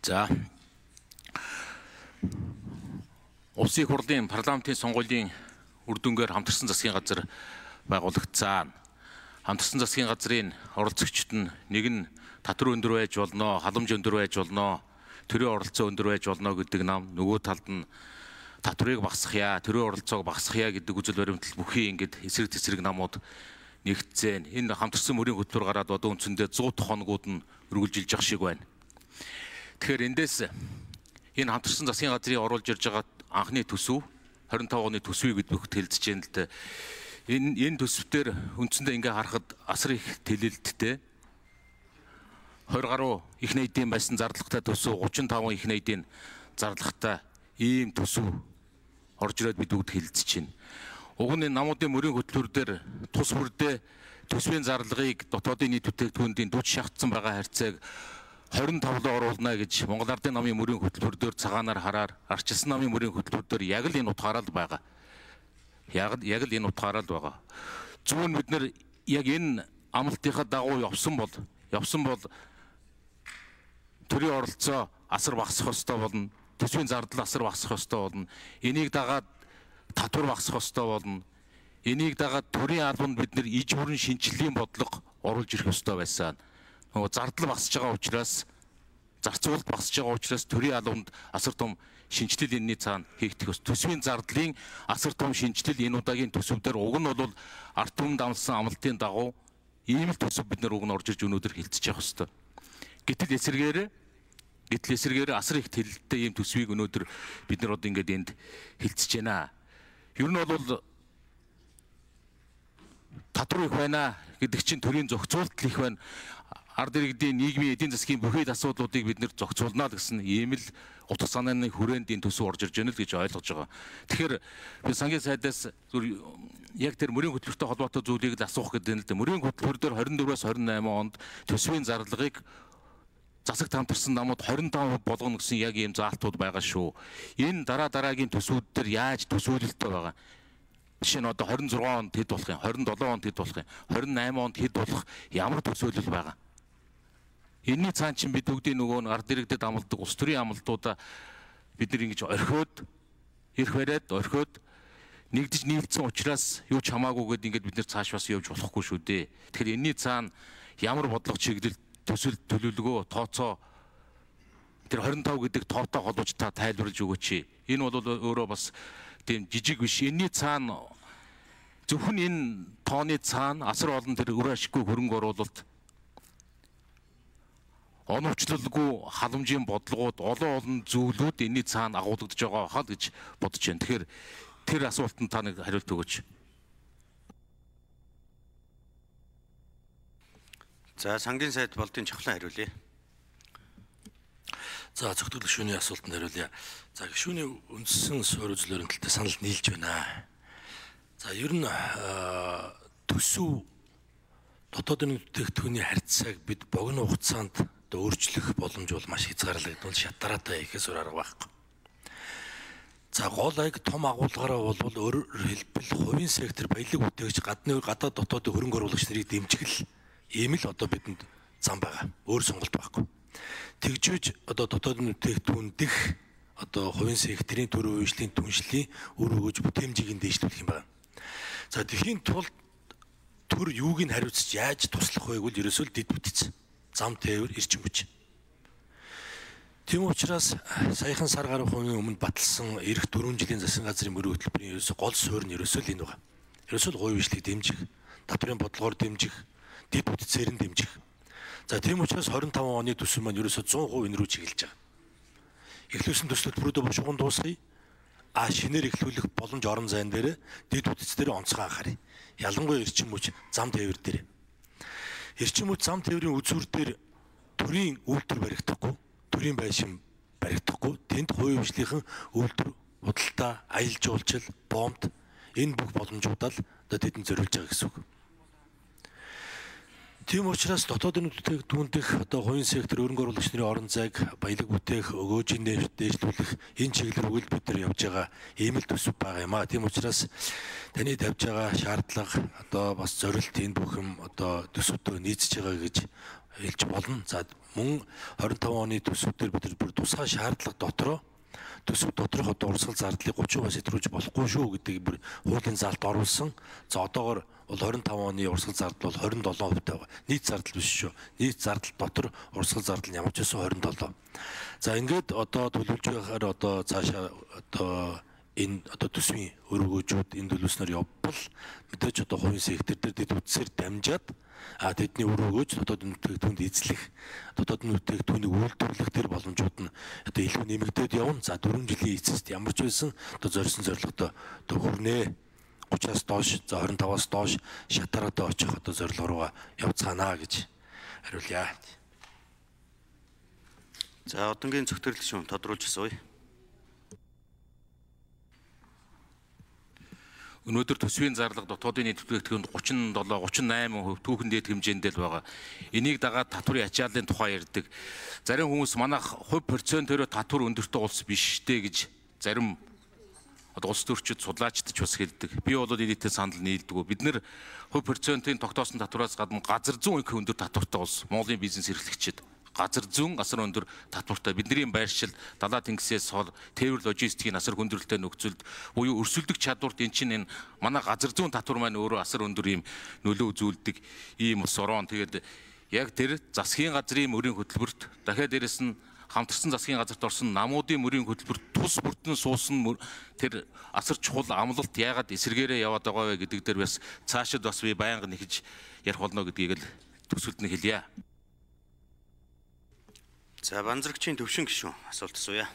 За Улсын их хурлын парламентын сонгуулийн үр дүнгээр хамтарсан засгийн газар байгуулагдсан. Хамтарсан засгийн газрын оролцогчид нь нэг нь татвар өндөр байж болно, халамж өндөр байж болно, төрийн оролцоо өндөр байж болно гэдэг нам, нөгөө талд нь татварыг багасгахъя, төрийн оролцоог багасгахъя гэдэг үзэл баримтал бүхий ингээд эсрэг тесрэг намууд нэгтцэн. Энэ хамтарсан мөрийн хөтөлбөр гараад одоо үндсэндээ 100 хоногуд нь үргэлжилж явах шиг байна. Тэгэхээр эндээс энэ хамтарсан засгийн газрын оруулж ирж байгаа анхны төсөв 25 оны төсвийг бид бүгд хэлцэж байна л да. Энэ төсвтөр үндсэндээ ингээ харахад асар их тэлэлттэй 20 гаруй их найдын байсан зардлагатай төсөв 35 их найдын зардлагатай ийм төсөв орж ирээд бид бүгд хэлцэж байна. Уг нь намуудын мөрийн хөтөлбөр дээр тус бүрдээ төсвийн зарлагыг дотоодын нийт бүтээгдэхүүндийн 40 шаардсан байгаа харьцааг 25-д оруулна гэж Монгол Ардын намын мөрийн хөтөлбөр дээр цагаанаар хараар арчилсан намын мөрийн хөтөлбөр дээр яг л энэ утгаараа л байгаа. Яг л энэ утгаараа л байгаа. Зөвхөн бид нэр яг энэ амлалтынхаа дагуу явсан бол төрийн оролцоо асар багасах ёстой болно. Төсвийн зардал асар багасах ёстой болно. Энийг дагаад татвар багасах ёстой болно. Энийг дагаад төрийн албанд бид нэр иж бүрэн шинжилгээний бодлого оруулж ирэх ёстой байсан. Зардал багасж байгаа учраас зарцуулалт багасж байгаа учраас төрийн албанд асар том шинжилэл энэний цаана хийгдэх ёстой. Төсвийн зардлын асар том шинжилэл энэ удаагийн төсөвдөр уг нь бол ард түмэнд амласан амлалтын дагуу ийм л төсөв бид нар уг нь орж ирж өнөөдөр хилцэж явах ёстой. Гэтэл эсэргээр асар их тэлэлттэй ийм төсвийг өнөөдөр бид нар одоо ингээд энд хилцэж байна. Ер нь бол татвар их байна гэдэг чинь төрийн зохицуулалт их байна. Ард иргэдийн нийгмийн эдийн засгийн бүхий л асуудлуудыг бид нэр зохицуулна гэсэн ийм л утга санааны хүрээнд энэ төсөв орж ирж байна л гэж ойлгож байгаа. Тэгэхээр би сангийн сайдаас яг тэр мөрийн хөтөлбөртэй холбоотой зүйлийг л асуух гэдэг нь л дээ. Мөрийн хөтөлбөр дээр 24-өөс 28 онд төсвийн зарлагыг засагт хамтарсан намууд 25% болгоно гэсэн яг ийм заалтууд байгаа шүү. Энэ дараагийн төсвүүд дээр яаж төсөөлөлттэй байгаа? Жишээ нь одоо 26 онд хэд болох юм, 27 онд хэд болох юм, 28 онд хэд болох ямар төсөөлөл байгаа? Энийний цаана чинь бид бүгдийн нөгөө ард иргэдэд амладаг улс төрийн амлалтуудаа бид нар ингэж орхиод нэгдэж нийлцсэн учраас юу ч хамаагүй гэдээ ингэж бид нар цаашвас явж болохгүй шүү дээ. Тэгэхээр энэний цаана ямар бодлого чиглэл төсөл төлөвлөгөө тооцоо тэр 25 гэдэг тоотой холбож та тайлбарлаж өгөөч. Энэ бол өөрөө бас тийм жижиг биш. Энэний цаана зөвхөн энэ тооны цаана асар олон тэр үр ашиггүй хөрөнгө оруулалт оновчлолгүй халамжийн бодлогууд олон зүйлүүд энэний цаана агуулгадж байгаа хаа гэж бодож байна. Тэгэхээр тэр асуултанд та нэг хариулт өгөөч. За сангийн сайд болдын чухлан хариулъя. За зөвхөн гишүүний асуултанд хариулъя. За гишүүний үндсэн суурь үзлэрийн талтай санал нийлж байна. За ер нь төсөв дотоодын бүтээгдэхүүний харьцааг бид богино хугацаанд өөрчлөх боломж бол маш хязгаарлагдвал шатараатай ихээс өөр арга байхгүй. За гол аяг том агуулгаараа бол өөрөөр хэлбэл хувийн сектор баялаг үтээгч гадаад дотоодын хөрөнгө оруулагч нарыг дэмжих ийм л одоо бидэнд зам байгаа. Өөр сонголт байхгүй. Тэгжүүж одоо дотоодын бүтээгдэхүүн дэх одоо хувийн секторын төр үйлчлэлийн түншлэлийн үр өгөөж бүтээмжийг нь дэвшлүүлэх юм байна. За тэхийн тулд төр юуг нь хариуцж яаж туслах вэ гэвэл ерөөсөө дэд бүтц зам тээвэр эрчим хүч. Тийм учраас саяхан сар гаруй хувийн өмнө баталсан эх 4 жилийн засгийн газрын мөрийн хөтөлбөрийн ерөөсөө гол суурь нь ерөөсөө л энэ байна. Ерөөсөө л хувийн үйлчлэгийг дэмжих, татварын бодлогоор дэмжих, дэд бүтцээр нь дэмжих. За тийм учраас 25 оны төсөв маань ерөөсөө 100% энэ рүү чиглэж байгаа. Эхлүүлсэн төсөл төлбөрүүдөө бушуухан дуусгая. Шинээр эхлүүлэх боломж орон зайн дээр дэд бүтц дээр онцгой анхаарай. Ялангуяа эрчим хүч зам тээвэр дээр. Эрчим хүч зам тээврийн үзүүр дээр төрийн үйлдвэр баригдахгүй, төрийн байшин баригдахгүй, тэнд хувийн хвшлийнхэн үйлдвэр, худалдаа, аялал жуулчлал, бомб энэ бүх боломжуудаа л одоо тэдэнд зориулж байгаа гэсэн үг. Тийм учраас дотоодын бүтээгдэхүүн дэх одоо хувийн сектор хөрөнгө оруулагч нарын орон зайг баялаг бүтээх, өгөөжийн дээшлүүлэх энэ чиглэл рүү бид нар явж байгаа ийм л төсөв байгаа юм аа. Тийм учраас таны тавьж байгаа шаардлага одоо бас зорилт энэ бүх юм одоо төсөвтөө нийцэж байгаа гэж хэлж болно. За мөн 25 оны төсвүүдээр бид бүр тусгай шаардлага дотроо төсөв доторх одоо урсгал зардлыг 30% сэтрүүлж болохгүй шүү гэдгийг бүр хуулийн заалт оруулсан. За одоогоор бол 25 оны урсгал зардал бол 27% байгаа. Нийт зардал биш шүү. Нийт зардал дотор урсгал зардал ямар ч байсан 27. За ингээд одоо төлөвлөж байхаар одоо цаашаа одоо энэ одоо төсвийн өргөөжүүд энэ төлөвснөр явбал мэдээж одоо хувийн сектор дээр дэд үтсээр дамжаад тэдний өргөөж дотоод нүтгэгдүүнд эзлэх дотоод нүтгэгдүүнийг үйлдвэрлэх төр боломжууд нь одоо илүү нэмэгдээд явна. За 4 жилийн эцэст ямар ч байсан одоо зорьсон зорилготой хүрнэ. 30-аас доош за 25-аас доош шатараатай очих одоо зорилго руугаа явцгаана гэж хариулъя. За одонгийн зөвтгөрлөл шүүн тодруулж асууя. Өнөөдөр төсвийн зарлага дотоодын нийт бүтээгдэхүүнд 37-38% түүхэн дээд хэмжээндээ л байгаа. Энийг дагаад татварын ачааллын тухай ярьдаг. Зарим хүмүүс манайх хувь процентөөр татвар өндөртэй улс биш дээ гэж зарим улс төрчид судлаачдч бас хэлдэг. Би бол нийтийн санал нийлдэг. Бид нэр хувь процентын тогтоосон татвараас гадна газар зүүн их өндөр татвартай улс. Монголын бизнес эрхлэгчид газар зүүн асар өндөр татвартай. Бидний байршил далаа тэнгисээс хол тээвэр логистикийн асар хүндрэлтэй нөхцөлд буюу өрсөлдөх чадварт эн чинь энэ манай газар зүүн татвар маань өөрөө асар өндөр ийм нөлөө үзүүлдэг ийм ус орон. Тэгээд яг тэр засгийн газрын мөрийн хөтөлбөрт дахиад дээрэс нь хамтарсан засгийн газарт орсон намуудын мөрийн хөтөлбөрт тус бүртэн суусан тэр асар чухал амлалт яагаад эсэргээрээ яваад байгаа вэ гэдэг дээр бас цаашид бас би байнга нэхэж ярих болно гэдгийг л төсөлд нь хэлье. За банзрагчийн төвшин гишүүн асуулт асууя.